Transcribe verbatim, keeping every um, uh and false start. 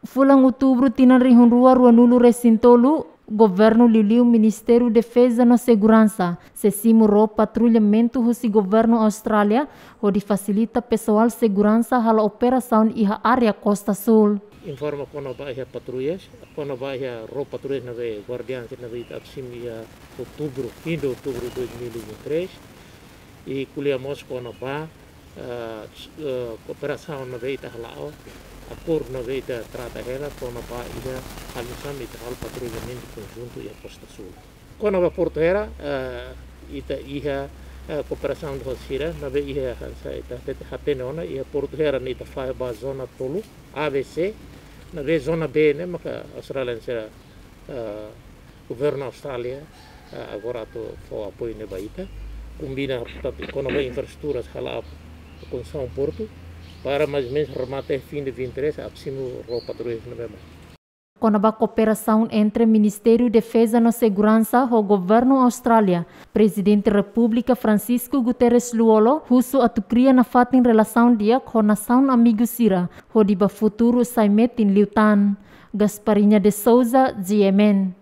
Fulan Outubru tinan rihun rua ruanulu resin tolu, governu liuliu Ministériu Defeza no Seguransa sei simu ró patrullamentu husi governu Austrália hodi fasilita pesoál seguransa halo operasaun iha área Kosta Súl. Informa kona-ba iha patrullas, kona-ba iha ró patrullas ne'ebé guardian sira ne'ebé ita simu iha Outubru, fim de Outubru dois mil e vinte e três, i ko'alia mós kona-ba, ah, s-, ah, kooperasaun ne'ebé ita hala'o, akordu ne'ebé ita trata hela kona-ba iha halo nu'usá mak ita halo patrullamentu konjuntu iha Kosta Súl. Kona-ba Portu Hera, ah, ita iha, ah, kooperasaun ho sira ne'ebé iha hanesan ita hatete, hatene ona, iha Portu Hera ne'e ita fahe ba zona tolu, A, B, C, ne'ebé zona B ne'e maka Austrália sira, ah, governu Austrália, ah, agora atu fó apoiu ne'e ba ita. Konbina, portantu, kona-ba infraestruturas hala'o konstrusaun portu, para mais ou menos remata fim de vinte e três, atu simu ró patrullas ne'ebé mai. Kona-ba kooperasaun entre Ministériu Defeza no Seguransa ho governu Austrália, Prezidente Repúblika Francisco Guterres Lú-Olo husu atu kria nafatin relasaun di'ak ho nasaun amigu sira, hodi ba futuru sai metin liután. Gasparinha de Souza, G M N.